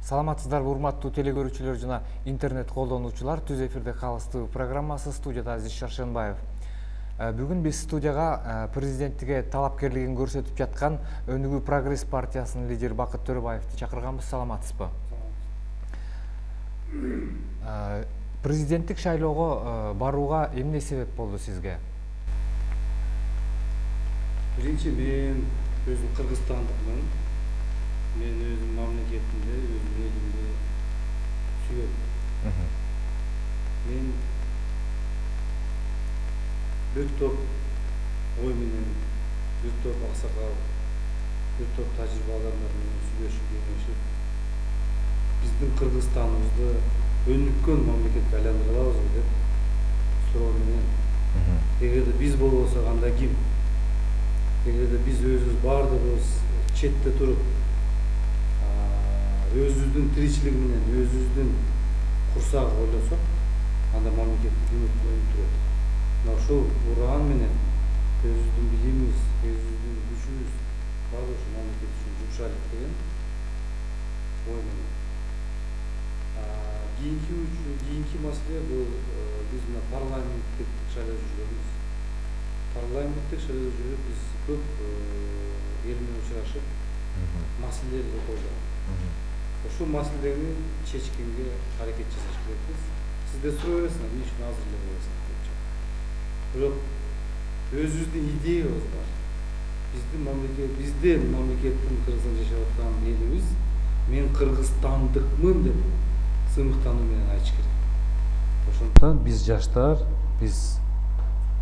Саламатсыздарбы урматтуу теле көрүүчүлөр жана интернет колдонуучулар. Түз эфирде калыстуу программасы, студияда Азиз Шаршенбаев. Бүгүн биз студияга президенттикке талапкерлигин көрсөтүп жаткан Өнүгүү Прогресс партиясынын лидери Бакыт Төрөбаевди чакырганбыз. Саламатсызбы? Президенттик шайлоого барууга эмне себеп болду сизге? Биринчи, мен өзүм кыргызстандыкмын. Мен өзүм мамлекетимди, өзүм элимди сүйөм. Мен бир топ ой менен, бир топ аксакал, бир топ тажрыйбалар менен сүйлөшүп, кеңешип, биздин Кыргызстаныбызды өнүккөн мамлекетке айландыра алабызбы деп суроо менен. Эгерде биз болбосок анда ким? Эгерде биз өзүбүз баардыгыбыз четте туруп, өзүбүздүн тиричилиги менен, өзүбүздүн курсагы ойлосок, анда мамлекетти ким өнүктүрөт? Мына ушул уран менен өзүбүздүн билимибиз, өзүбүздүн күчүбүз баардыгы ушу мамлекет үчүн жумшайлык деген ой менен. Кийинки маселе бул биз мына парламенттик шайлоодо жүргөнбүз. Парламенттик шайлоодо жүрүп биз көп эл менен учурашып, маселелерди койдук. Ушул маселени чечкенге аракет жасаш керекпиз. Сизде суроо бересиңер, эмне үчүн азыр эле коесуңар депчи. Бирок өзүбүздүн идеябыз бар. Биздин мамлекеттин Кыргызстанда жашап аткан элибиз мен кыргызстандыкмын деп сыймыктануу менен айтыш керек. Ошондуктан биз жаштар, биз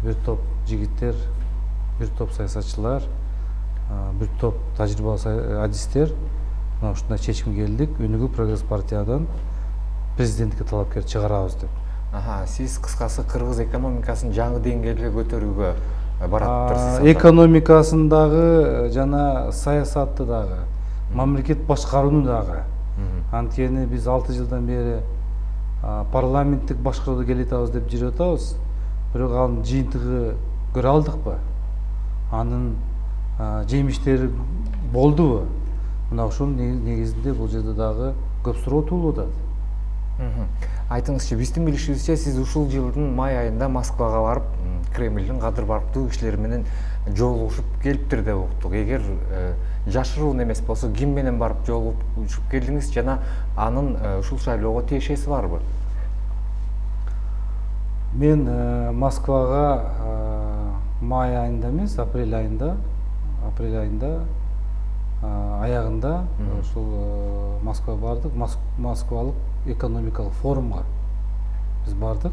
бир топ жигиттер, бир топ саясатчылар, бир топ тажрыйбалуу адистер мына ушундай чечимге келдик. Өнүгүү Прогресс партиядан президенттикке талапкер чыгарабыз деп. Сиз кыскасы кыргыз экономикасын жаңы деңгээлге көтөрүүгө баратыптырсыз. Экономикасын дагы жана саясатты дагы, мамлекет башкарууну дагы. Анткени биз 6 жылдан бери парламенттик башкарууду келатабыз деп жүрүп атабыз. Бирок анын жыйынтыгы көрө алдыкпы? Анын жемиштери болдубу? Мына ушунун негизинде бул жерде дагы көп суроо туулуп атат. Айтыңызчы, биздин билишибизче сиз ушул жылдын май айында Москвага барып, Кремлдин кадыр барктуу кишилери менен жолугушуп келиптир деп уктук. Эгер жашыруун эмес болсо, ким менен барып жолугушуп келдиңиз жана анын ушул шайлоого тиешеси барбы? Мен Москвага май айында эмес, апрель айында аягында ушул Москвага бардык. Москвалык экономикалык форумга биз бардык.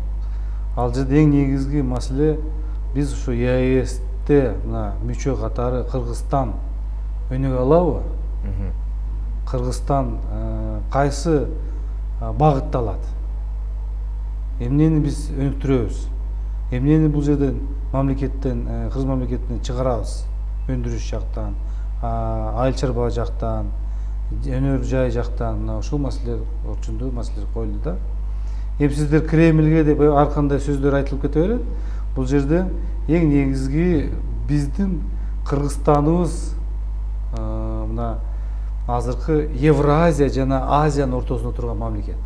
Ал жерде эң негизги маселе биз ушу ЕАЭСте мына мүчө катары Кыргызстан өнүгө алабы? Кыргызстан кайсы багытта алат? Эмнени биз өнүктүрөбүз? Эмнени бул жерден мамлекеттен, Кыргыз мамлекетинен чыгарабыз? Өндүрүш жактан, айыл чарба жактан, өнөр жай жактан, мына ушул маселелер орчундуу маселелер коюлду да. Эми сиздер Кремльге деп ар кандай сөздөр айтылып кете берет. Бул жерде эң негизги биздин Кыргызстаныбыз мына азыркы Евразия жана Азиянын ортосунда турган мамлекет.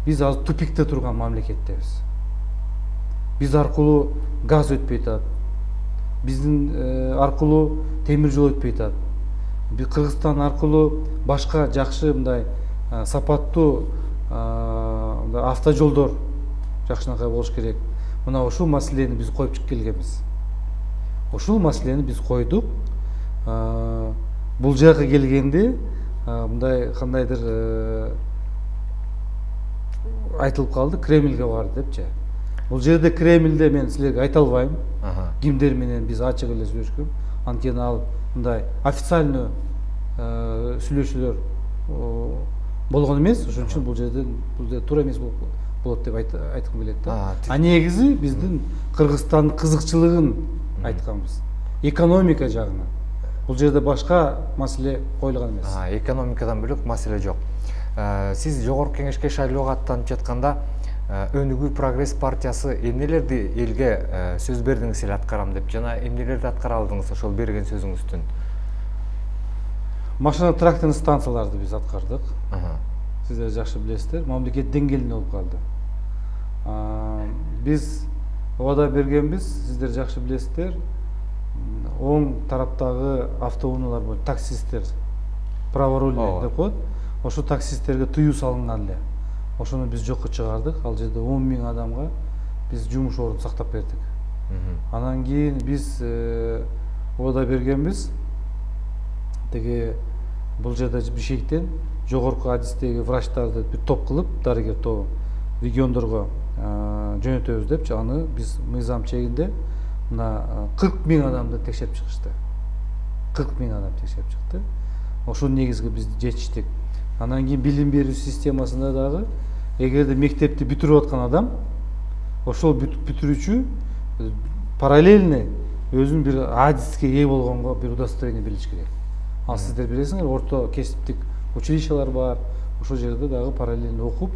Биз азыр тупикте турган мамлекеттебиз. Биз аркылуу газ өтпөй атат. Биздин аркылуу темир жол өтпөй атат. Кыргызстан аркылуу башка жакшы мындай сапаттуу автожолдор жакшынакай болуш керек. Мына ушул маселени биз коюп келгенбиз. Ушул маселени биз койдук. Бул жака келгенде мындай кандайдыр айтылып калды, Кремльге барды депчи. Бул жерде Кремльде мен силерге айта албайм. Кимдер менен биз ачык эле сүйлөшкөн. Анткени ал мындай официальный сүйлөшүүлөр болгон эмес. Ошон үчүн бул жерде туура эмес болот деп айткым келет да. Негизи биздин Кыргызстандын кызыкчылыгын айтканбыз. Экономика жагынан. Бул жерде башка маселе коюлган эмес. Экономикадан бөлөк маселе жок. Сиз жогорку кеңешке шайлоого аттанып жатканда Өнүгүү Прогресс партиясы эмнелерди элге сөз бердиңиз эле аткарам деп жана эмнелерди аткара алдыңыз ошол берген сөзүңүздүн? Машина тракторный станцияларды биз аткардык. сиздер жакшы билесиздер, мамлекет деңгээлинде болуп калды. Биз убада бергенбиз, сиздер жакшы билесиздер, оң тараптагы автоунаалар бар, таксисттер, праворульный деп коет. Ошо таксисттерге тыюу салынган эле. Ошону биз жокко чыгардык. Ал жерде 10 000 адамга биз жумуш ордун сактап бердик. Анан кийин биз убада бергенбиз, теги бул жерде Бишкектен жогорку адистеги врачтарды бир топ кылып, дарыгер тобу региондорго жөнөтөбүз депчи, аны биз мыйзам чегинде мына 40 000 адамды текшерип чыгышты. 40 000 адам текшерип чыкты. Ошол негизги биз жетиштик. Анан кийин билим берүү системасында дагы эгерде мектепти бүтүрүп аткан адам, ошол бүтүрүүчү параллельно өзүнүн бир адиске ээ болгонго бир удостоверение берилиш керек. Ал сиздер билесиңер, орто кесиптик училищалар бар. Ошол жерде дагы параллельно окуп,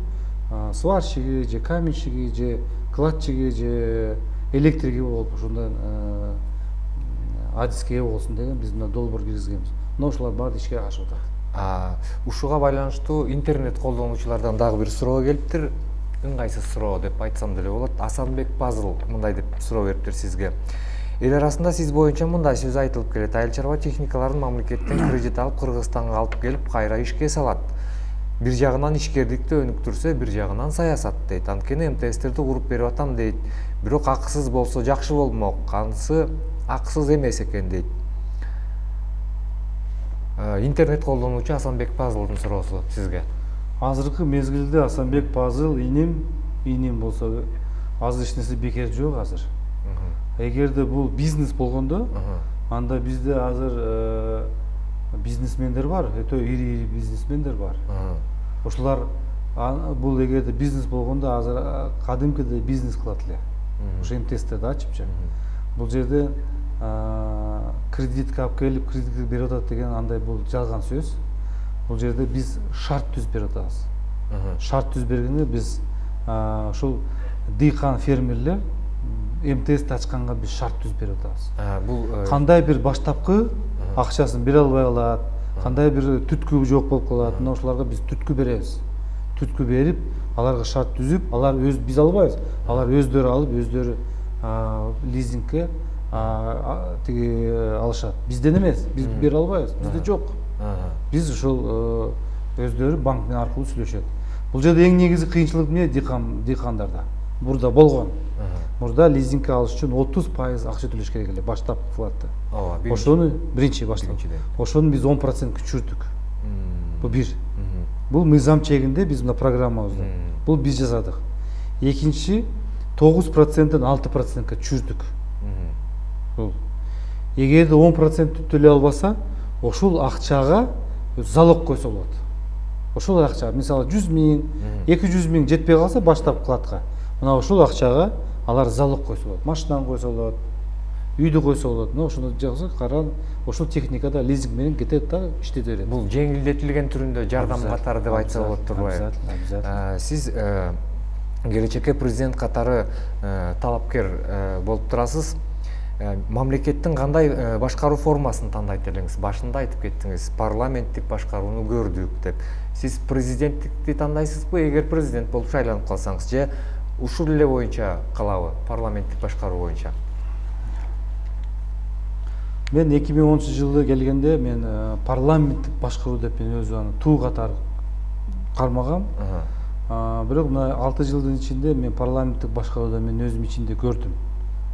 сварщиги же каменщиги же кладчиги же электрики болуп ошондон адиске ээ болсун деген биз мына долбоор киргизгенбиз. Мына ушулар баары ишке ашып атат. Ушуга байланыштуу интернет колдонуучулардан дагы бир суроо келиптир. Ыңгайсыз суроо деп айтсам деле болот. Асанбек Пазыл мындай деп суроо бериптир сизге. Эл арасында сиз боюнча мындай сөз айтылып келет: айыл чарба техникаларын мамлекеттен кредит алып Кыргызстанга алып келип кайра ишке салат. Бир жагынан ишкердикти өнүктүрсө, бир жагынан саясат дейт. Анткени МТСтерди куруп берип атам дейт. Бирок акысыз болсо жакшы болмок. Анысы акысыз эмес экен дейт. Интернет колдонуучу Асанбек Пазылдын суроосу сизге. Азыркы мезгилде Асанбек Пазыл иним болсо азыр эч нерсе бекер жок азыр. Эгерде бул бизнес болгондо, анда бизде азыр бизнесмендер бар, өтө ири бизнесмендер бар. Ошолар бул эгерде бизнес болгондо азыр кадимкидей бизнес кылат эле. Ошо МТСтерди ачыпчы. Бул жерде кредитке алып келип кредит берип атат деген андай бул жалган сөз. Бул жерде биз шарт түзүп берип атабыз. Шарт түзүп бергенде биз ушул дыйкан фермерлер МТСти ачканга биз шарт түзүп берип атабыз. Бул кандай бир баштапкы акчасын бере албай калат, кандай бир түткү жок болуп калат, мына ошолорго биз түткү беребиз. Түткү берип, аларга шарт түзүп, алар биз албайбыз. Алар өздөрү алып, өздөрү лизингке тиги алышат. Бизден эмес, биз бере албайбыз. Бизде жок. Биз ушул өздөрү банк менен аркылуу сүйлөшөт. Бул жерде эң негизги кыйынчылык эмне? Дыйкандарда. Мурда болгон. Мурда лизингке алыш үчүн 30% акча төлөш керек эле, баштапкы вкладты. Ошону биринчи баштап. Ошону биз 10% түшүрдүк. Бул бир. Бул мыйзам чегинде биз мына программабызда. Бул биз жасадык. Экинчи 9%ден 6%га түшүрдүк. Бул эгерде 10% төлөй албаса, ошол акчага залог койсо болот. Ошол акча, мисалы 100 000, 200 000 жетпей калса баштап кладка, мына ошол акчага алар залог койсо болот. Машинаны койсо болот, үйдү койсо болот. Мына ошону жазса каран, ошол техникада лизинг менен кетет да иштете берет. Бул жеңилдетилген түрүндө жардам катары деп айтса болот турбайбы? Сиз келечекке президент катары талапкер болуп турасыз. Мамлекеттин кандай башкаруу формасын тандайт элеңиз? Башында айтып кеттиңиз, парламенттик башкарууну көрдүк деп. Сиз президенттикти тандайсызбы? Эгер президент болуп шайланып калсаңыз, же ушул эле боюнча калабы, парламенттик башкаруу боюнча? Мен 2010-жылы келгенде мен парламенттик башкаруу деп мен өзү аны туу катары кармагам. Бирок мына 6 жылдын ичинде мен парламенттик башкарууду мен өзүм ичинде көрдүм.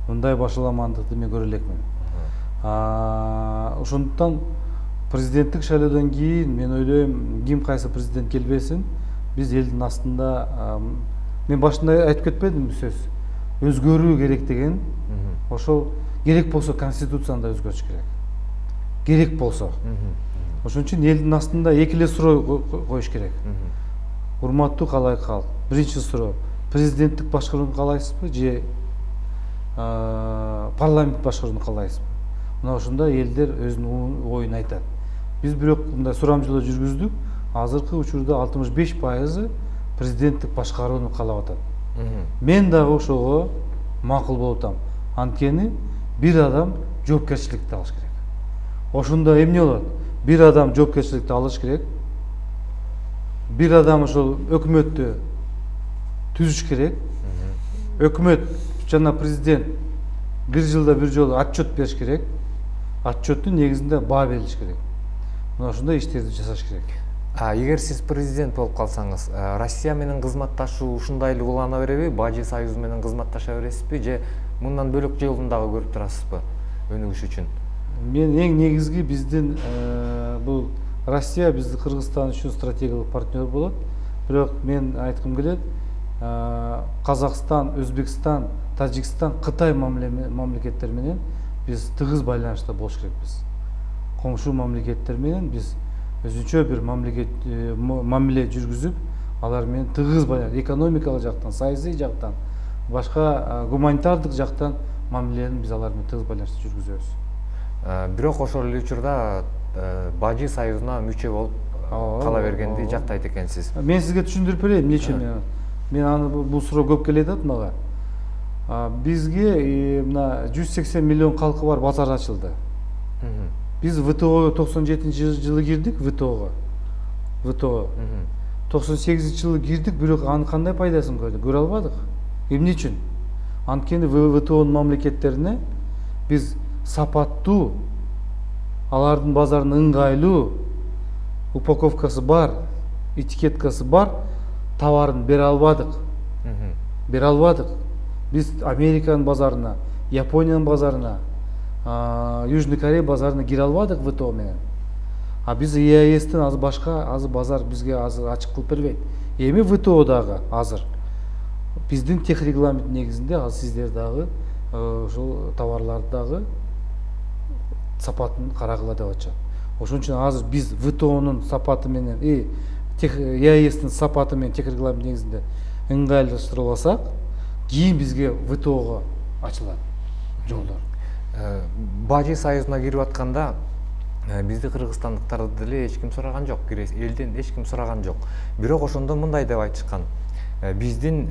Мындай башаламандыкты мен көрө элекмин. Ошондуктан президенттик шайлоодон кийин мен ойлойм, ким кайсы президент келбесин, биз элдин астында, мен башында айтып кетпедимби сөз, өзгөрүү керек деген. Ошол керек болсо конституцияны да өзгөртүш керек. Керек болсо. Ошон үчүн элдин астында эки эле суроо коюш керек. Урматтуу калайык калк, биринчи суроо, президенттик башкарууну каалайсызбы же парламент башкарууну каалайсызбы? Мына ошондо элдер өзүнүн оюн айтат. Биз бирок мындай сурамжылоо жүргүздүк. Азыркы учурда 65% президенттик башкарууну каалап атат. Мен дагы ошого макул болуп атам. Анткени бир адам жоопкерчиликти алыш керек. Ошондо эмне болот? Бир адам жоопкерчиликти алыш керек. бир адам ошол өкмөттү түзүш керек. Өкмөт жана президент бир жылда бир жолу отчет бериш керек. Отчеттун негизинде баа берилиш керек. Мына ошондой иштерди жасаш керек. Эгер сиз президент болуп калсаңыз, Россия менен кызматташуу ушундай эле улана береби? Бажы союзу менен кызматташа бересизби же мындан бөлөк жолун дагы көрүп турасызбы өнүгүш үчүн? Мен эң негизги биздин бул Россия бизди Кыргызстан үчүн стратегиялык партнер болот. Бирок мен айткым келет, Казакстан, Өзбекстан, Тажикстан, Кытай мамлекеттери менен биз тыгыз байланышта болуш керекпиз. Коңшу мамлекеттер менен биз өзүнчө бир мамиле жүргүзүп, алар менен тыгыз байланыш, экономикалык жактан, саясий жактан, башка гуманитардык жактан мамилени биз алар менен тыгыз байланышта жүргүзөбүз. Бирок ошол эле учурда Бажы союзуна мүчө болуп кала бергенди жактайт экенсиз. Мен сизге түшүндүрүп берейин, эмне үчүн мен аны бул суроо көп келет мага. Бизге мына 180 миллион калкы бар базар ачылды. Биз ВТО 97-жылы кирдик, ВТОго. 98-жылы кирдик, бирок анын кандай пайдасын көрдүк? Көрө албадык. Эмне үчүн? Анткени ВТОнун мамлекеттерине биз сапаттуу, алардын базарына ыңгайлуу, упаковкасы бар, этикеткасы бар товарын бере албадык. Биз Американын базарына, Япониянын базарына, Южный Корея базарына кире албадык ВТО менен. Биз ЕАЭстен азыр башка базар бизге азыр ачык кылып бербейт. Эми ВТО дагы азыр биздин тех регламент негизинде азыр сиздер дагы ошол товарларды дагы сапатын карагыла деп атышат. Ошон үчүн азыр биз ВТОнун сапаты менен ЕАЭстин сапаты менен тех регламент негизинде ыңгайлаштырып алсак, кийин бизге ВТОго ачылат жолдор. Бажы союзуна кирип атканда бизди кыргызстандыктарды деле эч ким сураган жок, элден эч ким сураган жок. Бирок ошондо мындай деп айтышкан. Биздин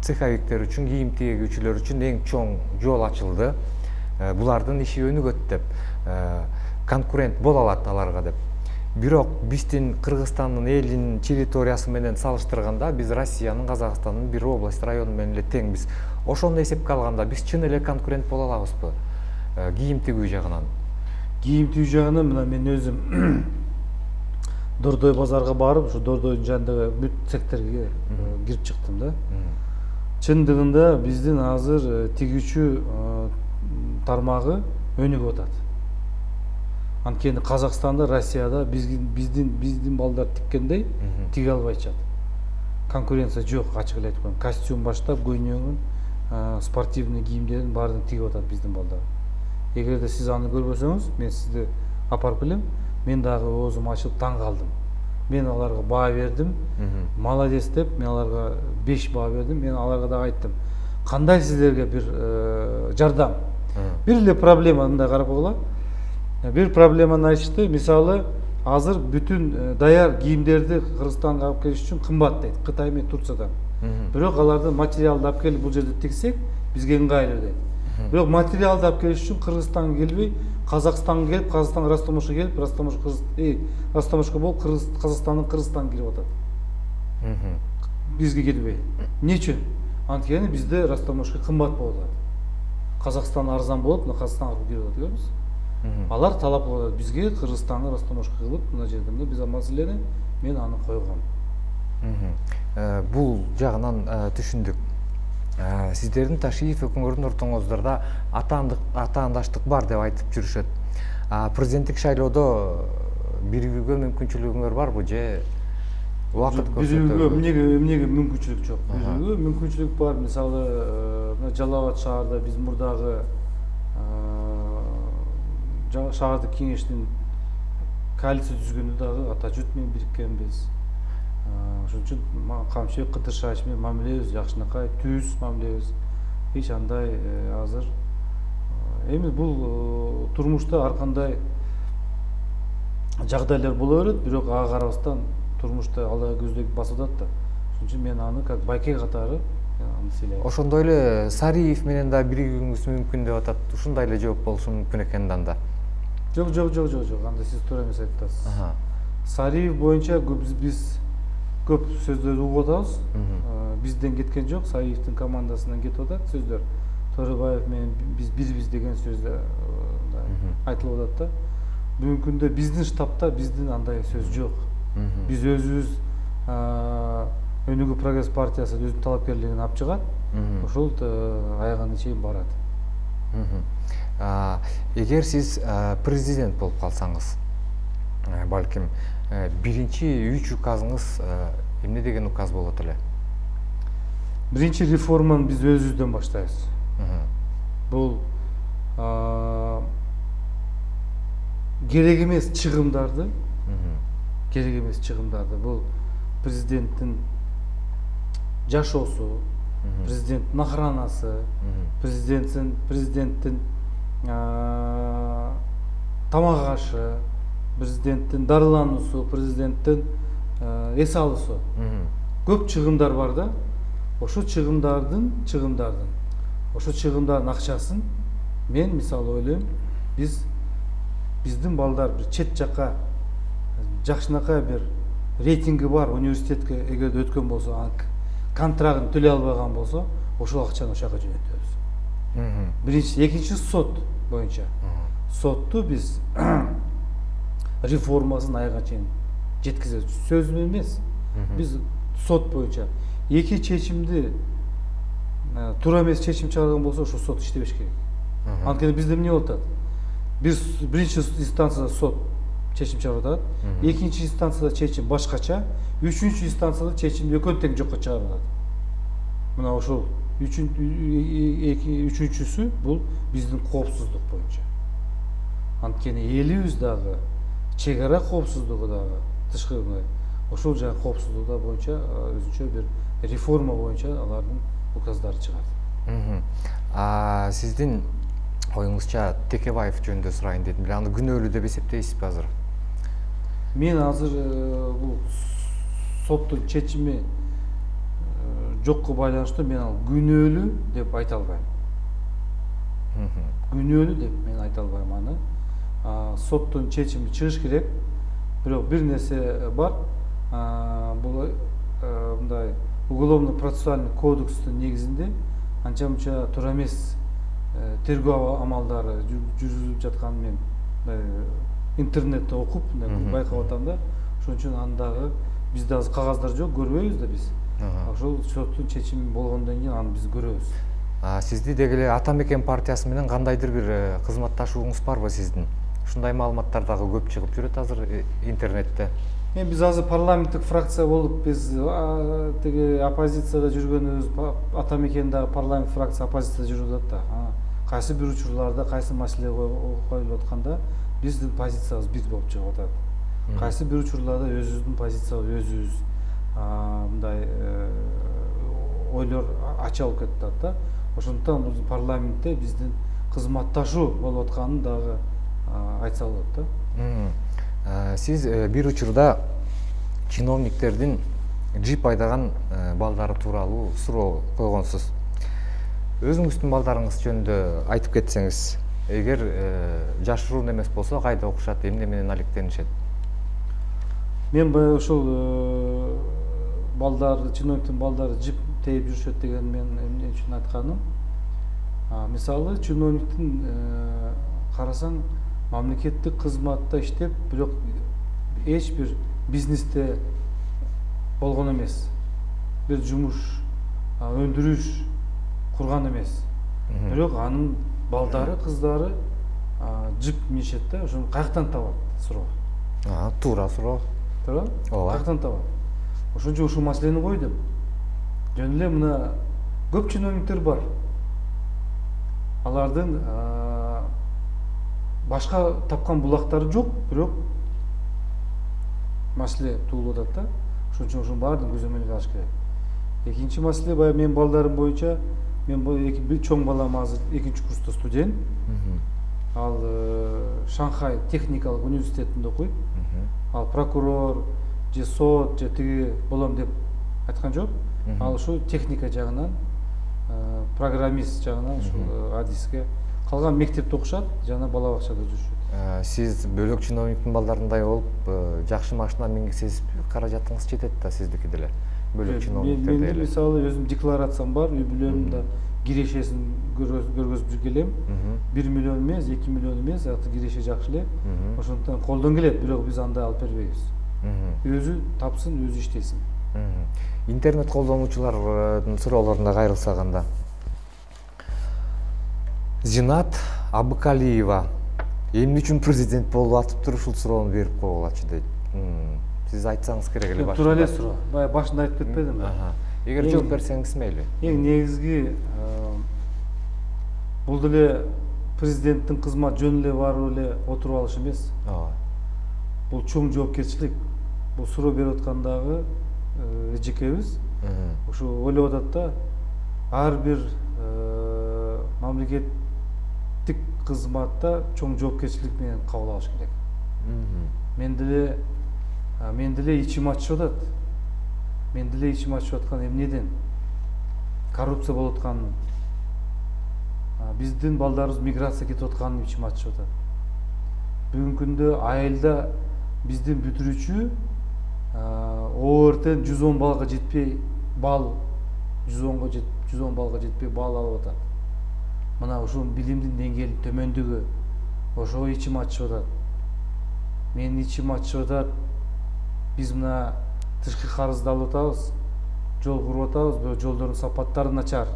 цеховиктер үчүн, кийим тигүүчүлөр үчүн эң чоң жол ачылды. Булардын иши өнүгөт деп, конкурент боло алат аларга деп. Бирок биздин Кыргызстандын элинин территориясы менен салыштырганда биз Россиянын, Казакстандын бир область, району менен эле тең. Биз ошону эсепке алганда биз чын эле конкурент боло алабызбы? Кийим тигүү жагынан. Кийим тигүү жагынан мына мен өзүм Дордой базарга барып, ошо Дордойдун жанындагы бүт цехтерге кирип чыктым да. Чындыгында биздин азыр тигүүчү тармагы өнүгүп атат. Анткени Казакстанда, Россияда биздин балдар тиккендей тиге албайчат. Конкуренция жок, ачык эле айтып коеюн. Костюм баштап, көйнөгүн, спортивный кийимдердин баарын тигип атат биздин балдар. Эгерде сиз аны көрбөсөңүз, мен сизди апарып келем. Мен дагы оозум ачылып таң калдым. Мен аларга баа бердим. Молодец деп, мен аларга 5 баа бердим. Мен аларга дагы айттым. Кандай сиздерге бир жардам? Бир эле проблема мындай карап койгула. Бир проблеманы айтышты. Мисалы, азыр бүтүн даяр кийимдерди Кыргызстанга алып келиш үчүн кымбат дейт. Кытай менен Турциядан. Бирок алардын материалды алып келип бул жерде тиксек, бизге ыңгайлуу дейт. Бирок материалды алып келиш үчүн Кыргызстанга келбей, Казакстанга келип, Казакстан Ростомошко келип, Ростомошко болуп, Казакстандын Кыргызстанга кирип атат. Бизге келбей. Эмне үчүн? Анткени бизде Ростомошко кымбат болот. Казакстан арзан болуп, мына Казакстанга кирип атат, көрдүңүз? Алар талап кылып атат, бизге Кыргызстанга Ростомошко кылып, мына жерде биз маселени мен аны койгом. Бул жагынан түшүндүк. Сиздердин Ташиев өкмөрдүн ортоңуздарда атаандаштык бар деп айтып жүрүшөт. Президенттик шайлоодо биригүүгө мүмкүнчүлүгүңөр барбы же убакыт көрсөтөбү? Эмнеге мүмкүнчүлүк жок? Биригүүгө мүмкүнчүлүк бар. Мисалы, Жалал Абад шаарда биз мурдагы шаардык кеңештин коалиция түзгөндө дагы ата жұрт менен бириккенбиз. Ошон үчүн Камчыбек Кыдыршаевич менен мамилебиз жакшынакай, түз мамилебиз. Эч андай азыр эми бул турмушта ар кандай жагдайлар боло берет, бирок ага карабастан турмушта Алла көздөй басып атат да. Ошон үчүн мен аны как байке катары аны сыйлайм. Ошондой эле Сариев менен да биригүүңүз мүмкүн деп атат. Ушундай эле жооп болушу мүмкүн экен анда. Жок, анда сиз туура эмес айтып атасыз. Сариев боюнча биз көп сөздөрдү угуп атабыз. Бизден кеткен жок, Саиевдин командасынан кетип атат сөздөр. Төрөбаев менен биз бирбиз деген сөз айтылып атат да. Бүгүнкү күндө биздин штабта биздин андай сөз жок. Биз өзүбүз Өнүгүү прогресс партиясы өзүнүн талапкерлигин алып чыгат. Ошол аягына чейин барат. Эгер сиз президент болуп калсаңыз, балким биринчи 3 указыңыз эмне деген указ болот эле? Биринчи реформаны биз өзүбүздөн баштайбыз. Бул керек эмес чыгымдарды, бул президенттин жашоосу, президенттин охранасы, президенттин тамак ашы, президенттин дарылануусу, президенттин эс алуусу. Көп чыгымдар бар да. Ошо чыгымдардын акчасын мен мисалы ойлойм, биздин балдар бир чет жакка жакшынакай бир рейтинги бар университетке эгерде өткөн болсо, контрагын төлөй албаган болсо, ошол акчаны ошол жака жөнөтөбүз. Биринчи, экинчи сот боюнча. Сотту биз реформасын аягына чейин жеткизебиз. Сөз эмес. Биз сот боюнча эки чечимди туура эмес чечим чыгарган болсо, ошол сот иштебеш керек. Анткени бизде эмне болуп атат? Биринчи инстанцияда сот чечим чыгарып атат, экинчи инстанцияда чечим башкача, үчүнчү инстанцияда чечим экөө тең жокко чыгарып атат. Мына ошол үчүнчүсү бул биздин коопсуздук боюнча. Анткени элибиз дагы чек ара коопсуздугу дагы тышкы ошол жагы коопсуздугу боюнча өзүнчө бир реформа боюнча алардын указдары чыгат. Сиздин оюңузча Текебаев жөнүндө сурайын дедим эле. Аны күнөөлүү деп эсептейсизби азыр? Мен азыр бул соттун чечими жокко байланыштуу мен ал күнөөлүү деп айта албайм. Күнөөлүү деп мен айта албайм аны. Соттун чечими чыгыш керек. Бирок бир нерсе бар. Бул мындай уголовно-процессуальный кодекстин негизинде анча-мынча туура эмес тергөө амалдары жүргүзүлүп жатканын мен интернетте окуп байкап атам да. Ошон үчүн андагы бизде азыр кагаздар жок, көрбөйбүз да биз. Ошол соттун чечими болгондон кийин аны биз көрөбүз. Сизди деги эле Ата Мекен партиясы менен кандайдыр бир кызматташууңуз барбы сиздин? Ушундай маалыматтар дагы көп чыгып жүрөт азыр интернетте. Биз азыр парламенттик фракция болуп, биз тиги оппозицияда жүргөнүбүз, Ата Мекендеги парламент фракция оппозицияда жүрүп атат да. Кайсы бир учурларда, кайсы маселе коюлуп атканда биздин позициябыз бир болуп чыгып атат. Кайсы бир учурларда өзүбүздүн позициябыз өзүбүз мындай ойлор ача болуп кетип атат да. Ошондуктан бул парламентте биздин кызматташуу болуп атканын дагы айтса болот да. Сиз бир учурда чиновниктердин джип айдаган балдары тууралуу суроо койгонсуз. Өзүңүздүн балдарыңыз жөнүндө айтып кетсеңиз, эгер жашыруун эмес болсо кайда окушат, эмне менен алектенишет? Мен ошол балдар, чиновниктин балдары жип тээп жүрүшөт деген мен эмне үчүн айтканым? Мисалы чиновниктин карасаң мамлекеттик кызматта иштеп, бирок эч бир бизнесте болгон эмес. Бир жумуш, өндүрүш курган эмес. Бирок анын балдары, кыздары жип минишет да, ошону каяктан табат суроо. Туура суроо. Туура? Ооба. Каяктан табат? Ошон үчүн ушул маселени койдум. Жөн эле мына көп чиновниктер бар. Алардын башка тапкан булактары жок, бирок маселе туулуп атат да. Ошон үчүн ошонун баардыгын көзөмөлгө алыш керек. Экинчи маселе баягы менин балдарым боюнча, мен бир чоң балам азыр 2-курста студент. Ал Шанхай техникалык университетинде окуйт. Ал прокурор, же сот, же тиги болом деп айткан жок. Ал ушул техника жагынан, программист жагынан ушул адиске калган мектепте окушат, жана бала бакчада жүрүшөт. Сиз бөлөк чиновниктин балдарындай болуп жакшы машина мингисеңиз каражатыңыз жетет да сиздики деле. Бөлөк чиновниктер деле. Мен мисалы өзүм декларациям бар, үй бүлөмдө кирешесин көргөзүп жүргелем. 1 миллион эмес, 2 миллион эмес, аты киреше жакшы эле. Ошондон колдон келет, бирок биз андай алып бербейбиз. Өзү тапсын, өзү иштесин. Интернет колдонуучулардын суроолоруна кайрылсак анда. Зинат Абыкалиева эмне үчүн президент болуп атыптыр, ушул суроону берип койгулачы дейт. Сиз айтсаңыз керек эле башында. Туура эле суроо. Баягы башында айтып кетпедимби? Эгер жооп берсеңиз мейли. Эң негизги бул деле президенттин кызмат жөн эле барып эле отуруп алыш эмес. Бул чоң жоопкерчилик. Бул суроо берип аткандагы эжекебиз ушу ойлоп атат да, ар бир мамлекеттик кызматта чоң жоопкерчилик менен кабыл алыш керек. Мен деле ичим ачышып атат. Мен деле ичим ачышып аткан эмнеден? Коррупция болуп атканын. Биздин балдарыбыз миграция кетип атканын ичим ачышып атат. Бүгүнкү күндө айылда биздин бүтүрүүчү ОРТен 110 балга жетпей бал 110 балга жетпей бал алып атат. Мына ушул билимдин деңгээлинин төмөндүгү ошого ичим ачышып атат. Менин ичим ачышып атат. Биз мына тышкы карызды алып атабыз, жол куруп атабыз, бирок жолдордун сапаттары начар.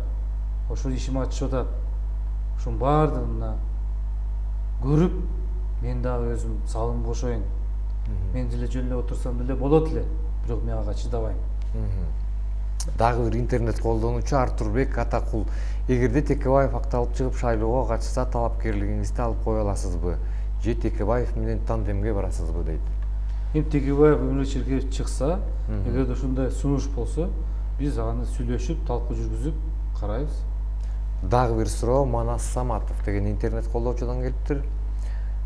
Ошол ичим ачышып атат. Ушунун баардыгын мына көрүп, мен дагы өзүм салым кошоюн. Мен деле жөн эле отурсам деле болот эле, бирок мен ага чыдабайм. Дагы бир интернет колдонуучу Артурбек Атакул: эгерде Текебаев акталып чыгып шайлоого катышса, талапкерлигиңизди алып кое аласызбы? Же Текебаев менен тандемге барасызбы дейт. Текебаев өмүрчүлүккө чыкса, эгерде ушундай сунуш болсо, биз аны сүйлөшүп, талкуу жүргүзүп карайбыз. Дагы бир суроо Манас Саматов деген интернет колдоочудан келиптир.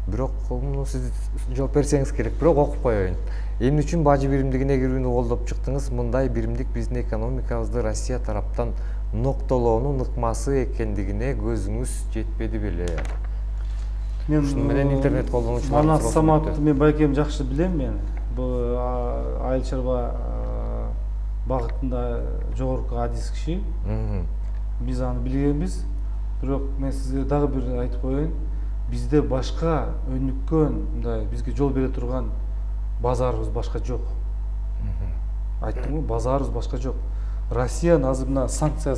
Бирок муну сиз жооп берсеңиз керек, бирок окуп коеюн. Эмне үчүн бажы биримдигине кирүүнү колдоп чыктыңыз? Мындай биримдик биздин экономикабызды Россия тараптан ноктолоонун ыкмасы экендигине көзүңүз жетпеди беле? Ушуну менен интернет колдонуучулар Манас Саматовду мен байкем жакшы билем. Мен бул айыл чарба багытында жогорку адис киши. Биз аны билгенбиз. Бирок мен сизге дагы бир айтып коеюн. Бизде башка өнүккөн, мындай бизге жол бере турган базарыбыз башка жок. Айттым го, базарыбыз башка жок. Россиянын азыр мына санкция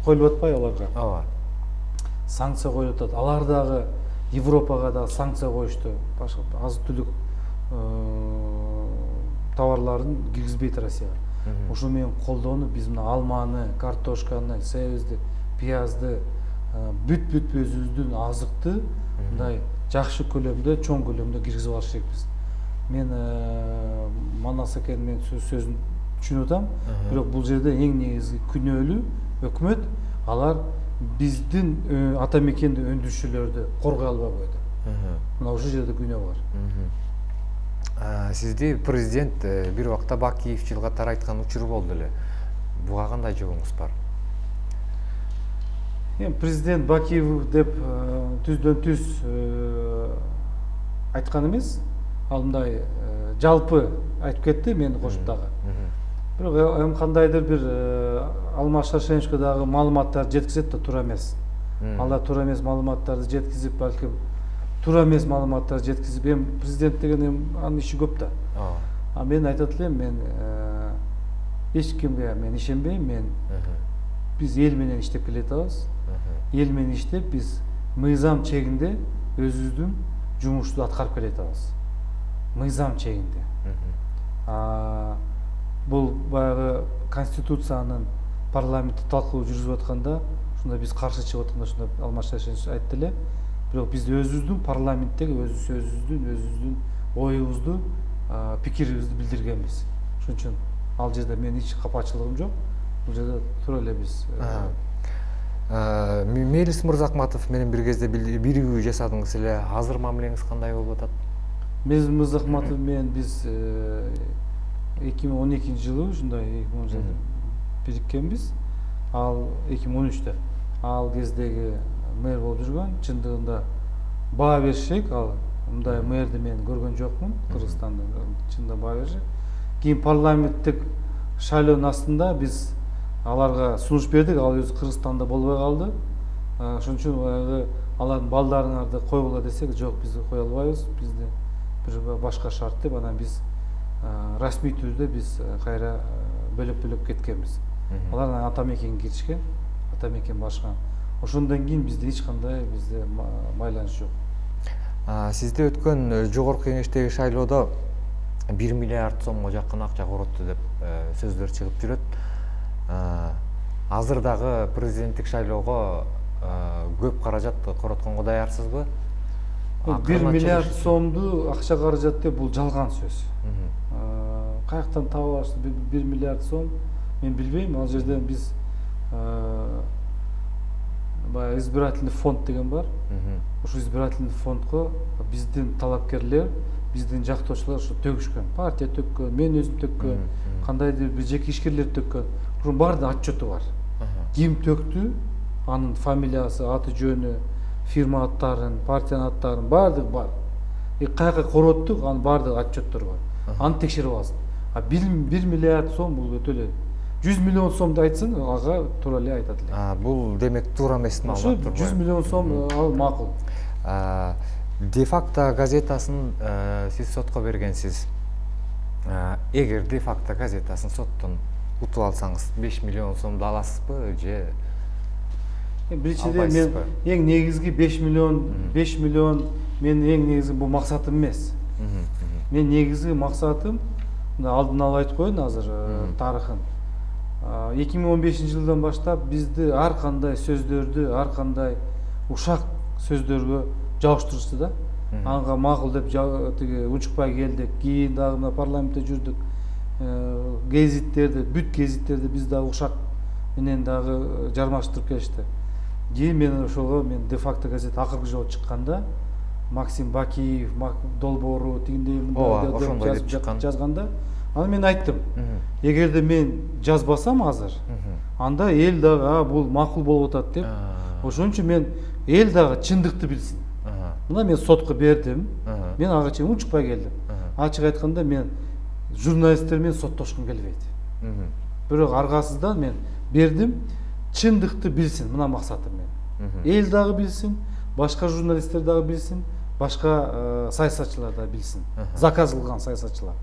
коюлуп атпайбы аларга? Ооба. Санкция коюлуп атат. Алар дагы Европага да санкция коюшту. Башка азык-түлүк товарларын киргизбейт Россияга. Ошо менен колдонуп биз мына алманы, картошканы, себизди, пиязды, бүт өзүбүздүн азыкты мындай жакшы көлөмдө, чоң көлөмдө киргизип алыш керекпиз. Мен Манас экен мен сөзүн түшүнүп атам, бирок бул жерде эң негизги күнөөлүү өкмөт, алар биздин ата мекенди өндүрүшчүлөрдү коргой албай койду. Мына ушул жерде күнөө бар. Сизди президент бир убакта Бакиев жылгатар айткан учуру болду эле. Буга кандай жообуңуз бар? Президент Бакиев деп түздөн түз айткан эмес. Ал мындай жалпы айтып кетти, мени кошуп дагы. Бирок эми кандайдыр бир Алмаз Шаршеновичке маалыматтар жеткизет да туура эмес. Алар туура эмес маалыматтарды жеткизип, балким туура эмес маалыматтарды жеткизип, эми президент деген анын иши көп да. А мен айтат элем, мен эч кимге мен ишенбейм. Биз эл менен иштеп келатабыз. Эл менен иштеп, биз мыйзам чегинде өзүбүздүн жумушту аткарып келатабыз. Мыйзам чегинде. Бул баягы конституциянын парламентте талкуу жүргүзүп атканда, ушунда биз каршы чыгып атканда, ушунда Алмаз Шаршенович айтты эле. Бирок биз өзүбүздүн парламенттеги өзүбүздүн оюбузду, пикирибизди билдиргенбиз. Ошон үчүн ал жерде менин эч капачылыгым жок. Бул жерде туура эле биз Мелис Мырзахматов менен бир кезде биригүү жасадыңыз эле. Азыр мамилеңиз кандай болуп атат? Мелис Мырзахматов менен биз 2012-жылы ушундай 2010 жылы бириккенбиз. Ал 2013-тө. Ал кездеги мэр болуп жүргөн, чындыгында баа беришек. Ал мындай мэрди мен көргөн жокмун Кыргызстанда, чынында баа беришек. Кийин парламенттик шайлоонун астында биз аларга сунуш бердик, ал өзү Кыргызстанда болбой калды. Ошон үчүн алардын балдарыңарды койгула десек, жок, биз кое албайбыз, бизде бир башка шарт деп, анан биз расмий түрдө биз кайра бөлөп кеткенбиз. Алар ата мекенге киришкен, ата мекен башкан. Ошондон кийин бизде эч кандай байланыш жок. Сизде өткөн жогорку кеңештеги шайлоодо 1 миллиард сомго жакын акча коротtu деп сөздөр чыгып жүрөт. Азыр дагы президенттик шайлоого көп каражат коротконго даярсызбы? 1 миллиард сомду акча каражат деп бул жалган сөз. Каяктан таап алышты 1 миллиард сом? Мен билбейм. Ал жерден биз баягы избирательный фонд деген бар. Ошо избирательный фондго биздин талапкерлер, биздин жактоочулар ошо төгүшкөн. Партия төккөн, мен өзүм төккөн, кандайдыр бир жеке ишкерлер төккөн. Ошонун баардыгынын отчету бар. Ким төктү, анын фамилиясы, аты жөнү, фирма аттарын, партиянын аттарын баардыгы бар. Каяка короттук, анын баардыгы отчеттор бар. Аны текшерип алсын. 1 миллиард сом бул өтө эле. 100 миллион сомду айтсын, ага туура эле айтат эле. Бул демек туура эмес маалыматтар. 100 миллион сом ал макул. Де факто газетасын сиз сотко бергенсиз. Эгер де факто газетасын соттон утуп алсаңыз 5 миллион сомду аласызбы же? Биринчиден мен эң негизги 5 миллион менин эң негизги бул максатым эмес. Мен негизги максатым, алдын ала айтып коеюн азыр тарыхын. 2015-жылдан баштап бизди ар кандай сөздөрдү, ар кандай ушак сөздөргө жабыштырышты да. Анга макул деп тиги учукпай келдик. Кийин дагы мына парламентте жүрдүк. Гезиттерди, бүт гезиттерди биз дагы ушак менен дагы жармаштырып келишти. Кийин мен ошого де факто газет акыркы жолу чыкканда Максим Бакиев, долбоору тигиндей мындай деп жазганда, аны мен айттым. Эгерде мен жазбасам азыр, анда эл дагы бул макул болуп атат деп. Ошон үчүн мен эл дагы чындыкты билсин. Мына мен сотко бердим. Мен ага чейин учукпай келдим. Ачык айтканда мен журналисттер менен соттошкум келбейт. Бирок аргасыздан мен бердим, чындыкты билсин, мына максатым мен. Эл дагы билсин, башка журналисттер дагы билсин, башка саясатчылар да билсин. Заказ кылган саясатчылар.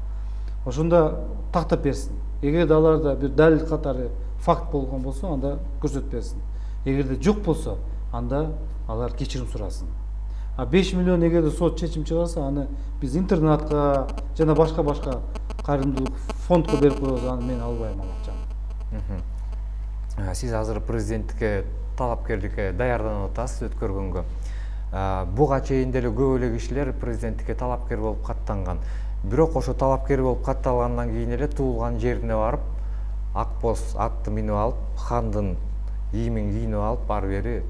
Ошондо тактап берсин. Эгерде аларда бир далил катары факт болгон болсо, анда көрсөтүп берсин. Эгерде жок болсо, анда алар кечирим сурасын. 5 миллион эгерде сот чечим чыгарса, аны биз интернатка жана башка кайрымдуулук фондко берип коебуз, аны мен албайм ал акчаны. Сиз азыр президенттикке талапкерликке даярданып атасыз өткөргөнгө. Буга чейин деле көп эле кишилер президенттикке талапкер болуп каттанган. Бирок ошо талапкер болуп катталгандан кийин эле туулган жерине барып, ак боз атты минип алып, хандын кийимин кийинип алып, ары бери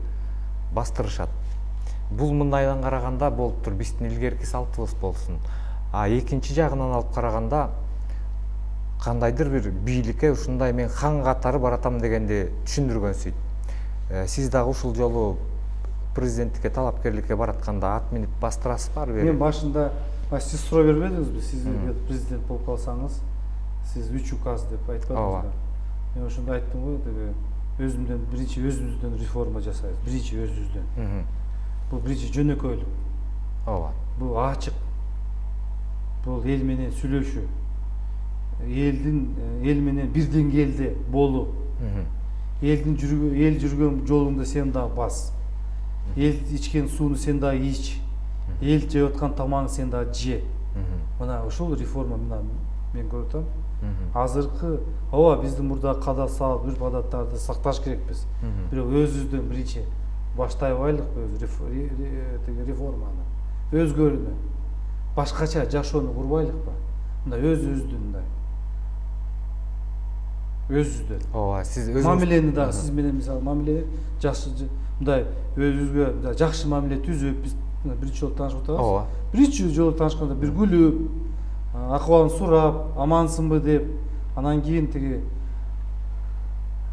бастырышат. Бул мындайдан караганда болуптур, биздин илгерки салтыбыз болсун. Экинчи жагынан алып караганда кандайдыр бир бийликке ушундай мен хан катары баратам дегенди түшүндүргөнсүйт. Сиз дагы ушул жолу президенттикке талапкерликке баратканда ат минип бастырасызбы ары бери? Мен башында сиз суроо бербедиңизби? Сиз президент болуп калсаңыз, сиз 3 указ деп айтпадыңызбы? Мен ошондо айттым го, өзүмдөн биринчи өзүбүздөн реформа жасайбыз, биринчи өзүбүздөн. Бул биринчи жөнөкөйлүк. Ооба. Бул ачык. Бул эл менен сүйлөшүү. Эл менен бир деңгээлде болуу. Эл жүргөн жолуңда сен дагы бас. Эл ичкен сууну сен дагы ич. Эл жеп аткан тамагыңды сен дагы же. Мына ушул реформа мен көрүп атам. Азыркы ооба биздин мурда када салып, үрп адаттарды сакташ керекпиз. Бирок өзүбүздөн биринчи баштай алайлыкпы реформаны. Өзгөрүүнү, башкача жашоону курбайлыкпы? Мындай өзүбүздүн мындай. Өзүбүздөн. Ооба, сиз өзүңүз мамилени дагы сиз менен мисалы мамиле жакшы мындай өзүбүзгө жакшы мамиле түзүп, биз биринчи жолу таанышып атабыз. Ооба. Биринчи жолу таанышканда бир күлүп, акыбалын сурап, амансыңбы деп, анан кийин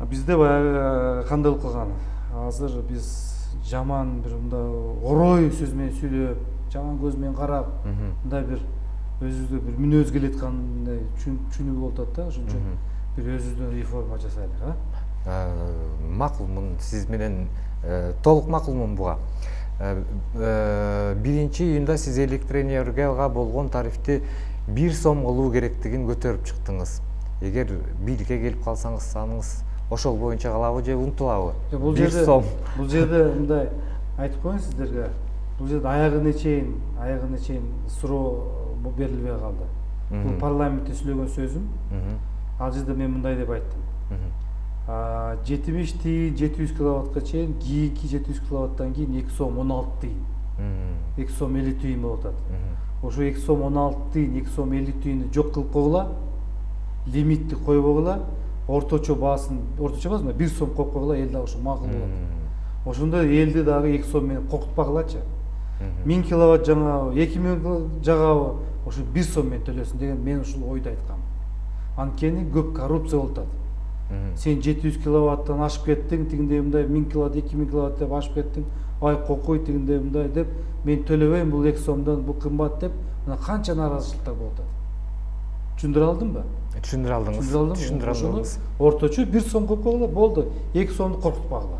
бизде баягы кандай болуп калган. Азыр биз жаман бир мындай орой сөз менен сүйлөп, жаман көз менен карап, мындай бир өзүбүздө бир мүнөз келаткандай түшүнүү болуп атат да. Ошон үчүн бир өзүбүздөн реформа жасайлык, Макулмун, сиз менен толук макулмун буга. 1-июнда сиз электроэнергияга болгон тарифти 1 сом кылуу керектигин көтөрүп чыктыңыз. Эгер бийликке келип калсаңыз, аныңыз ошол боюнча калабы же унутулабы? 1 сом. Бул жерде мындай айтып коеюн сиздерге. Бул жерде аягына чейин суроо берилбей калды. Бул парламентте сүйлөгөн сөзүм. Ал жерде мен мындай деп айттым. 70 тиын 700 киловаттка чейин, кийинки 700 киловаттан кийин 2 сом 16 тиын. 2 сом 50 тиын болуп атат. Ошо 2 сом 16 тиын, 2 сом 50 тиынды жок кылып койгула. Лимитти койбогула. Орточо баасын, орточо эмесми, 1 сом коюп койгула, эл дагы ошо макул болот. Ошондо элди дагы 2 сом менен коркутпагылачы. 1000 киловатт жаңабы, 2000 жагабы, ошо 1 сом менен төлөсүн деген мен ушул ойду айткам. Анткени көп коррупция болуп атат. Сен 700 киловаттан ашып кеттиң, тигиндей мындай 1000 киловатт, 2000 киловатт деп ашып кеттиң. Ай кокуй, тигиндей мындай деп, мен төлөбөйм, бул 2 сомдон, бул кымбат деп, мына канча нааразычылыктар болуп атат. Түшүндүрө алдымбы? Түшүндүрө алдыңыз. Орточо 1 сом коюп койгула, болду. 2 сомду коркутпагыла.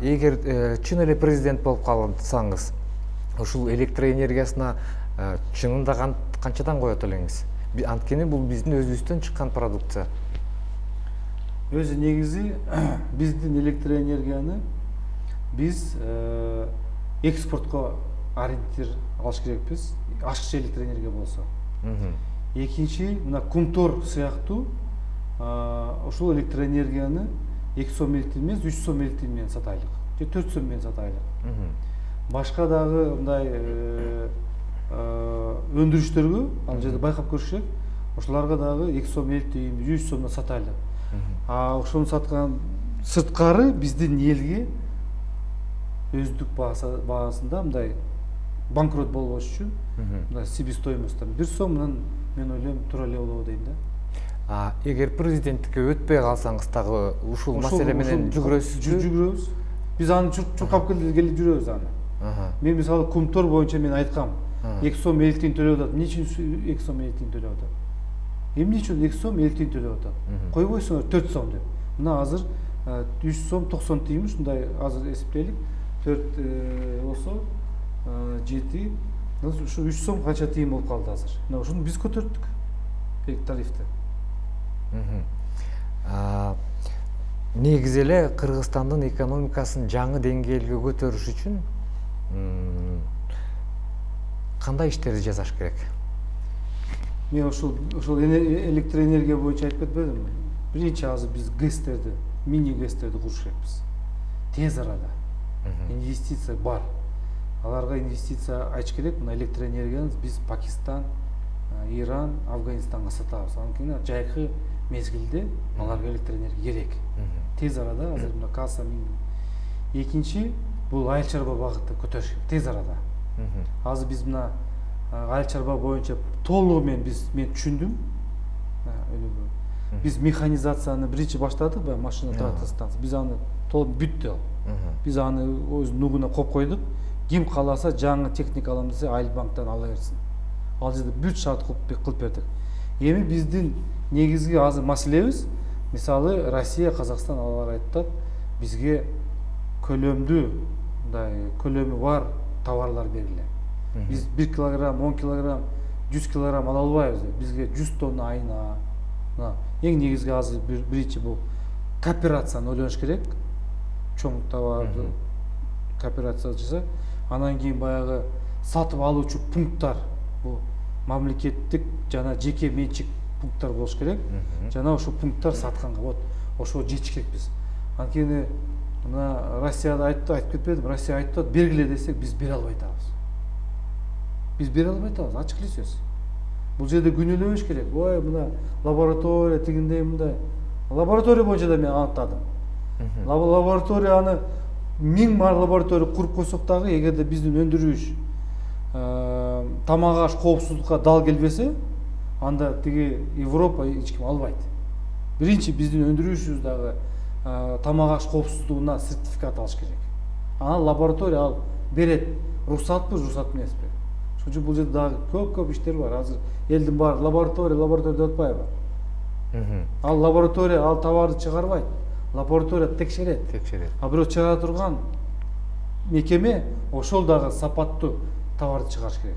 Эгер чын эле президент болуп калсаңыз, ушул электроэнергиясына чынында канчадан коет элеңиз? Анткени бул биздин өзүбүздөн чыккан продукция. Өзү негизи биздин электроэнергияны биз экспортко ориентир алыш керекпиз. Ашыкча электроэнергия болсо. Экинчи, мына Кумтор сыяктуу ушул электроэнергияны 2 сом 50 тиын эмес, 3 сом 50 тиын менен сатайлык. Же 4 сом менен сатайлык. Башка дагы мындай өндүрүштөргө, ал жерде байкап көрүш керек. Ошолорго дагы 2 сом 50 тиын, 3 сомдон сатайлык. Ошону саткан сырткары биздин элге өздүк баасында мындай банкрот болбош үчүн мындай себестоимостьтан 1 сомдон мен ойлойм туура эле болобу дейм да. Эгер президенттикке өтпөй калсаңыз дагы ушул маселе менен жүгүрөсүзбү? Жүгүрөбүз. Биз аны чуркап келип жүрөбүз аны. Мен мисалы Кумтор боюнча мен айткам, 2 сом 50 тиын төлөп атат. Эмне үчүн 2 сом 50 тиын төлөп атат? Эмне үчүн 2 сом 50 тиын төлөп атат? Койбойсуңар 4 сом деп. Мына азыр 3 сом 90 тиын, ушундай азыр эсептейлик. 4 болсо 7, ушу 3 сом канча тиын болуп калды азыр. Мына ушуну биз көтөрдүк. Тарифти. Негизи эле Кыргызстандын экономикасын жаңы деңгээлге көтөрүш үчүн кандай иштерди жасаш керек? Мен ушул электроэнергия боюнча айтып кетпедимби? Биринчи азыр биз ГЭСтерди, мини ГЭСтерди куруш керекпиз. Тез арада. Инвестиция бар. Аларга инвестиция ачыш керек. Мына электроэнергияны биз Пакистан, Иран, Афганистанга сатабыз. Анткени жайкы мезгилде аларга электроэнергия керек. Тез арада азыр мына касса мин. Экинчи, бул айыл чарба багытты көтөрүш керек тез арада. Азыр биз мына айыл чарба боюнча толугу мен түшүндүм. Биз механизацияны биринчи баштадык, машина трактор станция. Биз аны толук бүттү. Биз аны өз нугуна коюп койдук. Ким кааласа жаңы техника алам десе Айыл банктан ала берсин. Ал жерде бүт шарт кылып бердик. Эми биздин негизги азыр маселебиз, мисалы Россия, Казакстан алар айтат, бизге көлөмдүү, мындай көлөмү бар товарлар бергиле. Биз 1 килограмм, 10 килограмм, 100 килограмм ала албайбыз. Бизге 100 тонна айына. Эң негизги азыр биринчи бул кооперацияны ойлош керек. Чоң товарды кооперация жасап, анан кийин баягы сатып алуучу пункттар, бул мамлекеттик жана жеке менчик пункттар болуш керек. Жана ошол пункттар сатканга вот ошого жетиш керекпиз. Анткени мына Россияда айтып кетпедим, Россия айтып, бергиле десек биз бере албай атабыз. Биз бере албай атабыз, ачык эле сөз. Бул жерде күнөөлөбөш керек. Ой, мына лаборатория тигиндей мындай. Лаборатория боюнча да мен антадым. Лаборатория аны 1000 лаборатория куруп койсок дагы, эгерде биздин өндүрүш тамак аш коопсуздукка дал келбесе, анда тиги Европа эч ким албайт. Биринчи биздин өндүрүшүбүз дагы тамак аш коопсуздугуна сертификат алыш керек. Анан лаборатория ал берет, уруксатпы, уруксат эмеспи. Ошон үчүн бул жерде дагы көп иштер бар. Азыр элдин баары лаборатория деп атпайбы? Ал лаборатория ал товарды чыгарбайт. Лаборатория текшерет. А бирок чыгара турган мекеме ошол дагы сапаттуу товарды чыгарыш керек.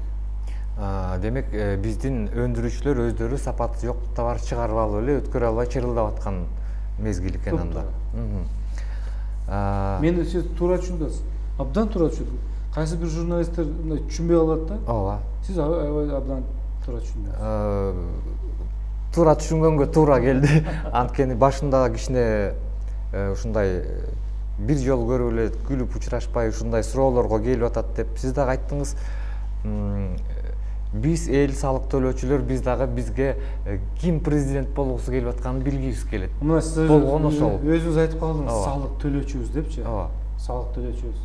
Демек биздин өндүрүүчүлөр өздөрү сапаты жок товар чыгарып алып эле өткөрө албай чырылдап аткан мезгил экен анда. Мени сиз туура түшүндүңүз. Абдан туура түшүндүм. Кайсы бир журналисттер мындай түшүнбөй калат да. Ооба. Сиз абдан туура түшүндүңүз. Туура түшүнгөнгө туура келди. Анткени башында кичине ушундай бир жолу көрүп эле күлүп учурашпай ушундай суроолорго келип атат деп сиз дагы айттыңыз. Биз эл салык төлөөчүлөр биз дагы бизге ким президент болгусу келип атканын билгибиз келет. Мына сиз болгон ошол. Өзүңүз айтып калдыңыз, салык төлөөчүбүз депчи. Ооба. Салык төлөөчүбүз.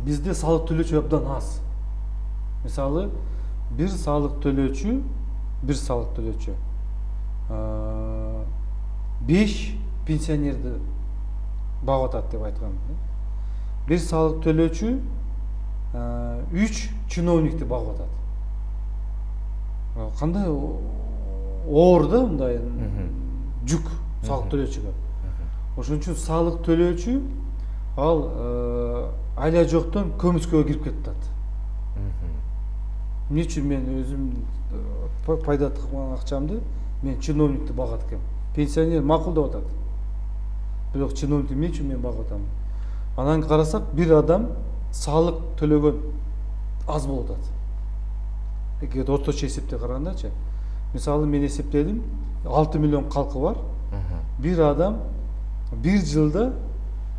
Бизде салык төлөөчү абдан аз. Мисалы, бир салык төлөөчү 5 пенсионерди багып атат деп айткан. Бир салык төлөөчү 3 чиновникти багып атат. Кандай оор да мындай жүк салык төлөөчүгө. Ошон үчүн салык төлөөчү ал айла жоктон көмүскөгө кирип кетет. Эмне үчүн мен өзүм пайда кылган акчамды мен чиновникти багат экем. Пенсионер макул деп атат. Бирок чиновникти эмне үчүн мен багып атам? Анан карасак бир адам салык төлөгөн аз болуп атат. Эгер орточо эсепте карагандачы. Мисалы мен эсептедим, 6 миллион калкы бар. Бир адам бир жылда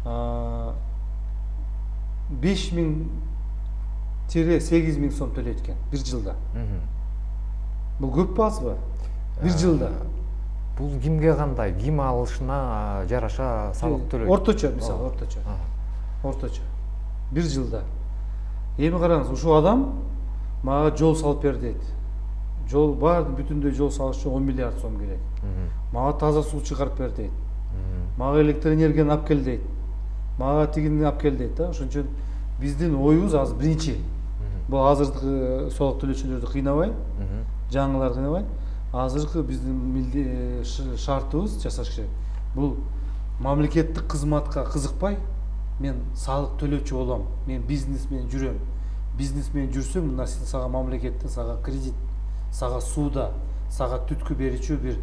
5.000–8.000 сом төлөйт экен бир жылда. Бул көппү азбы? Бир жылда. Бул кимге кандай, ким алышына жараша салык төлөйт? Орточо мисалы, орточо. Бир жылда. Эми караңыз, ушул адам мага жол салып бер дейт. Жол бар, бүтүндөй жол салыш үчүн 10 миллиард сом керек. Мага таза суу чыгарып бер дейт. Мага электр энергияны алып кел дейт. Мага тигини алып кел дейт да. Ошон үчүн биздин оюбуз азыр биринчи. Бул азыркы салык төлөөчүлөрдү кыйнабай, жаңыларды кыйнабай, азыркы биздин шартыбыз жасаш керек. Бул мамлекеттик кызматка кызыкпай, мен салык төлөөчү болом, мен бизнесмен жүрөм. Бизнесмен жүрсөм, мына сага мамлекеттен сага кредит, сага сууда, сага түткү берүүчү бир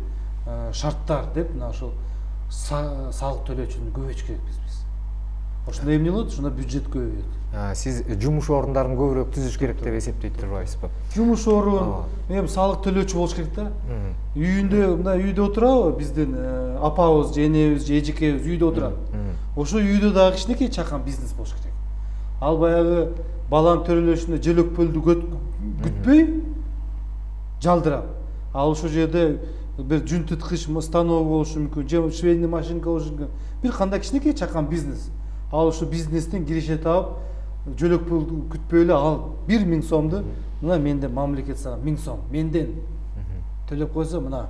шарттар деп мына ошол салык төлөөчүнү көбөйтүш керекпиз биз. Ошондо эмне болот? Ошондо бюджет көбөйөт. Сиз жумуш орундарын көбүрөөк түзүш керек деп эсептейт турбайсызбы? Жумуш орун, эми салык төлөөчү болуш керек да. Үйүндө, мындай үйдө отурабы биздин апабыз, энебиз, эжекебиз үйдө отурат. Ошо үйдө дагы кичинекей чакан бизнес болуш керек. Ал баягы баланын төрөлөшүндө желөкпөлдү күтпөй жалдырап. Ал ошол жерде бир жүн тыткыч станок болушу мүмкүн, же швейный машинка болушу мүмкүн. Бир кандай кичинекей чакан бизнес. Ал ошо бизнестен киреше таап, жөлөкпөлдү күтпөй эле ал 1000 сомду мына менде мамлекет сага 1000 сом менден төлөп койсо мына.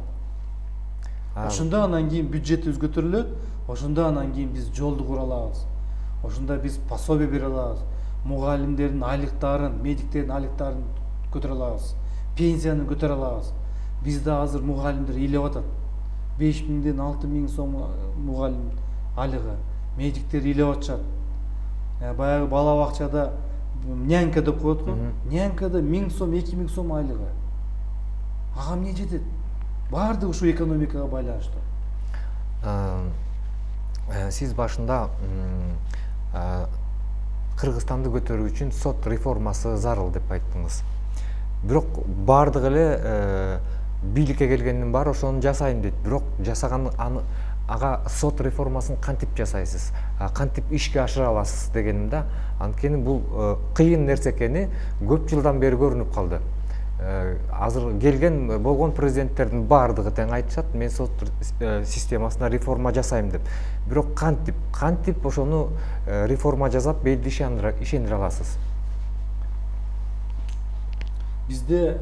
Ошондо анан кийин бюджетибиз көтөрүлөт. Ошондо анан кийин биз жолду кура алабыз. Ошондо биз пособие бере алабыз. Мугалимдердин айлыктарын, медиктердин айлыктарын көтөрө алабыз. Пенсияны көтөрө алабыз. Бизде азыр мугалимдер ыйлап атат. 5000ден 6000 сом мугалим айлыгы. Медиктер ыйлап атышат. Баягы бала бакчада нянька деп коет го. Нянькада 1000 сом, 2000 сом айлыгы. Ага эмне жетет? Баардыгы ушу экономикага байланыштуу. Сиз башында Кыргызстанды көтөрүү үчүн сот реформасы зарыл деп айттыңыз. Бирок баардыгы эле бийликке келгенден баары ошону жасайм дейт. Бирок жасаган ага сот реформасын кантип жасайсыз? Кантип ишке ашыра аласыз дегеним да. Анткени бул кыйын нерсе экени көп жылдан бери көрүнүп калды. Азыр келген болгон президенттердин баардыгы тең айтышат, мен сот системасына реформа жасайм деп. Бирок кантип ошону реформа жасап элди ишендире аласыз? Бизде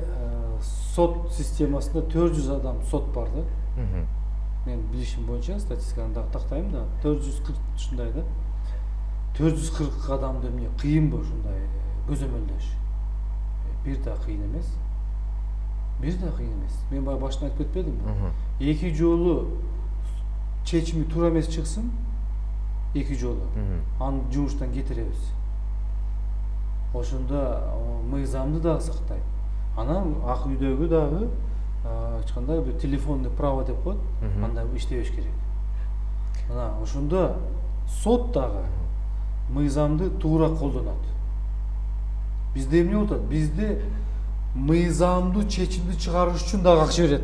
сот системасында 400 адам сот бар да. мен билишим боюнча статистиканы дагы тактайм да 440 ушундай да 440 адамды эмне кыйынбы ушундай көзөмөлдөш? Бир да кыйын эмес. Бир да кыйын эмес. Мен баягы башында айтып кетпедимби? Эки жолу чечими туура эмес чыксын, эки жолу аны жумуштан кетиребиз. Ошондо мыйзамды дагы сактайт. Анан ак үйдөгү дагы ачкандай бир телефонный право деп коет, анда иштебеш керек. Мына ошондо сот дагы мыйзамды туура колдонот. Бизде эмне болот? Бизде мыйзамдуу чечимди чыгарыш үчүн дагы акча берет.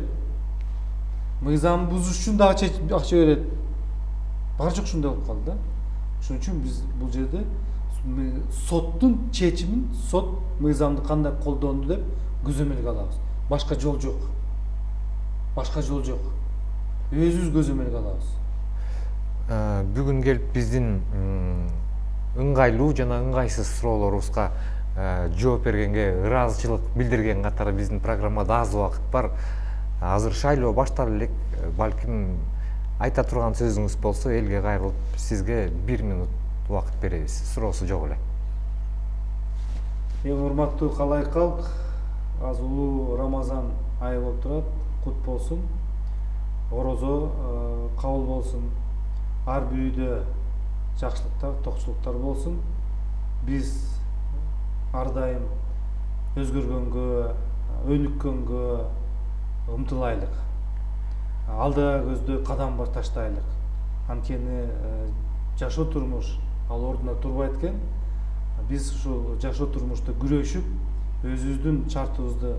Мыйзамды бузуш үчүн дагы акча берет. Бар жок ушундай болуп калды да. Ошон үчүн биз бул жерде соттун чечимин, сот мыйзамды кандай колдонду деп көзөмөлгө алабыз. Башка жол жок. Башка жол жок. Өзүбүз көзөмөлгө алабыз. Бүгүн келип биздин ыңгайлуу жана ыңгайсыз суроолорубузга жооп бергенге ыраазычылык билдирген катары биздин программада аз убакыт бар. Азыр шайлоо башталып элек. Балким айта турган сөзүңүз болсо элге кайрылып сизге 1 минут убакыт беребиз. Суроосу жок эле. Эң урматтуу калайык калк, азыр улуу Рамазан айы болуп турат. Кут болсун. Орозо кабыл болсун. Ар бир үйдө жакшылыктар, токчулуктар болсун. Биз ар дайым өзгөргөнгө, өнүккөнгө умтулайлык. Алда көздө кадам бар таштайлык. Анткени жашоо турмуш ал ордуна турбайт экен. Биз ушул жашоо турмушта күрөшүп, өзүбүздүн шартыбызды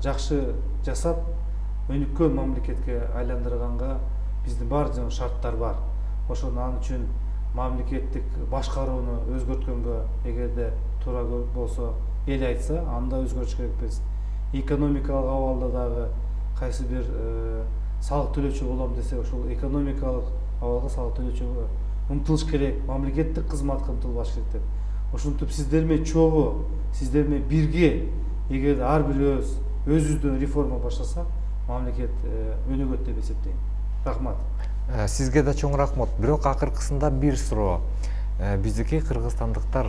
жакшы жасап, өнүккөн мамлекетке айландырганга биздин бар шарттар бар. Ошону ал үчүн мамлекеттик башкарууну өзгөрткөнгө эгерде туура болсо, эл айтса, анда өзгөрүш керекпиз. Экономикалык абалда дагы кайсы бир салык төлөөчү болом десе, ошол экономикалык абалга салык төлөөчү умтулуш керек, мамлекеттик кызматка умтулбаш керек деп. Ошентип сиздер менен чогуу, сиздер менен бирге, эгер ар бирөөбүз өзүбүздөн реформа баштасак, мамлекет өнүгөт деп эсептейм. Рахмат. Сизге да чоң рахмат. Бирок акыркысында бир суроо. Биздики кыргызстандыктар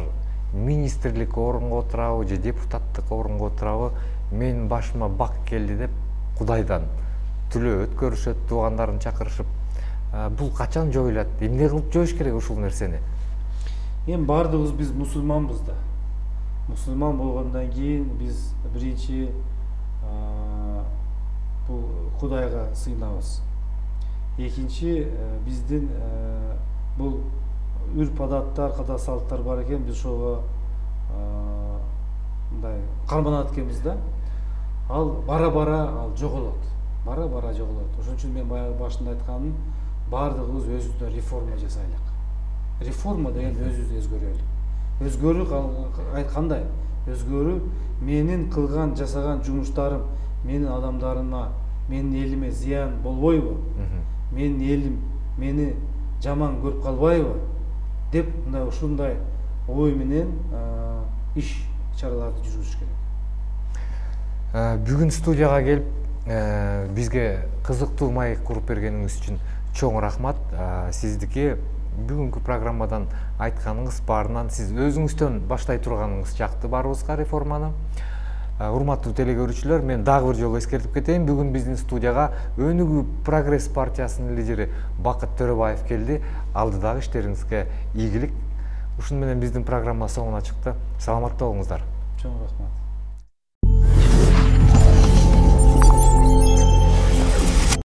министрлик орунга отурабы же депутаттык орунга отурабы, менин башыма бак келди деп Кудайдан түлөө өткөрүшөт, туугандарын чакырышып. Бул качан жоюлат? Эмне кылып жоюш керек ушул нерсени? Эми бардыгыбыз биз мусулманбыз да. Мусулман болгондон кийин биз биринчи бул Кудайга сыйынабыз. Экинчи биздин бул үрп адаттар, када салттар бар экен, биз ошого мындай карманат экенбиз да. Ал бара-бара ал жоголот. Бара-бара жоголот. Ошон үчүн мен баягы башында айтканым, бардыгыбыз өзүбүздөн реформа жасайлык. Реформа деген өзүбүздү өзгөрөлүк. Өзгөрүү кандай? Өзгөрүү менин кылган, жасаган жумуштарым менин адамдарыма, менин элиме зыян болбойбу? Менин элим мени жаман көрүп калбайбы? Деп мындай ушундай ой менен иш чараларды жүргүзүш керек. Бүгүн студияга келип бизге кызыктуу маек куруп бергениңиз үчүн чоң рахмат. Сиздики бүгүнкү программадан айтканыңыз баарынан сиз өзүңүздөн баштай турганыңыз жакты барыбызга реформаны. Урматтуу телекөрүүчүлөр, мен дагы бир жолу эскертип кетейин. Бүгүн биздин студияга Өнүгүү Прогресс партиясынын лидери Бакыт Төрөбаев келди. Алдыдагы иштериңизге ийгилик. Ушуну менен биздин программа соңуна чыкты. Саламатта болуңуздар. Чоң рахмат.